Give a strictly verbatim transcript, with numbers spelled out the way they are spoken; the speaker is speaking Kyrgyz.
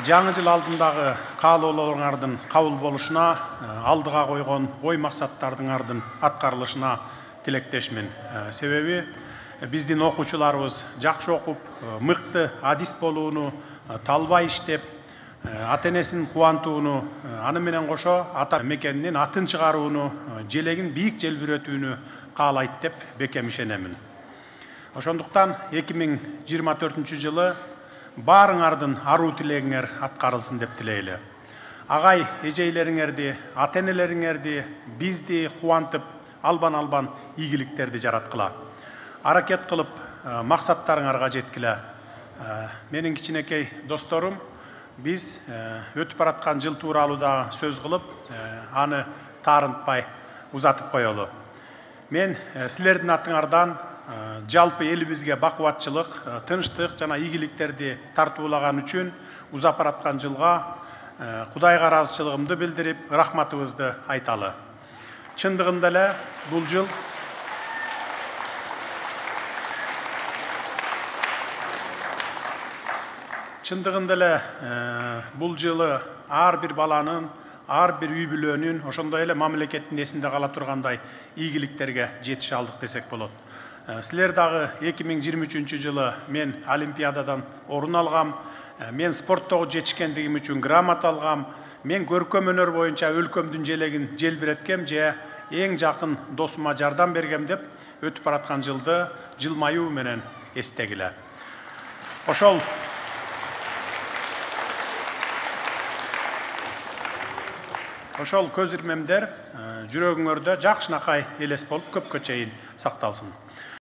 жаңы жыл алдындагы каалоолоруңардын кабыл болушуна, алдыга койгон ой максаттардыңардын аткарылышына тилектешмин. Себеби биздин окуучуларыбыз жакшы окуп, мыкты адис болууну, талбай иштеп, ата-энесин кубантууну, аны менен кошо ата мекенинин атын чыгарууну, желегин бийик желбирөтүүнү каалайт деп бекем ишенемин. Ошондуктан эки миң жыйырма төртүнчү жылы баарыңардын аруу тилегиңер аткарылсын деп тилейли. Агай эжейлериңерди, ата-энелериңерди, бизди кубантып, албан-албан ийгиликтерди жараткыла. Аракет кылып, максаттарыңарга жеткиле. Менин кичинекей досторум, биз өтүп бараткан жыл тууралуу да сөз кылып, аны таарынтпай узатып коелу. Мен силердин атыңардан жалпы элибизге бакубатчылык, тынчтык жана ийгиликтерди тартуулаган үчүн узап бараткан жылга Кудайга ыраазычылыгымды билдирип, рахматыбызды айталы. Чындыгында эле бул жыл Чындыгында эле бул жылы ар бир баланын, ар бир үй бүлөнүн, ошондой эле мамлекеттин эсинде кала тургандай ийгиликтерге жетише алдык десек болот. Силер дагы эки миң жыйырма үчүнчү жылы мен Олимпиададан орун алгам, мен спорттогу жетишкендигим үчүн грамота алгам, мен көркөм өнөр боюнча өлкөмдүн желегин желбиреткем же эң жакын досума жардам бергем деп өтүп бараткан жылды жылмаюу менен эстегиле. Ошол Ошол көз ирмемдер жүрөгүңөрдө жакшынакай элес болуп көпкө чейин сакталсын.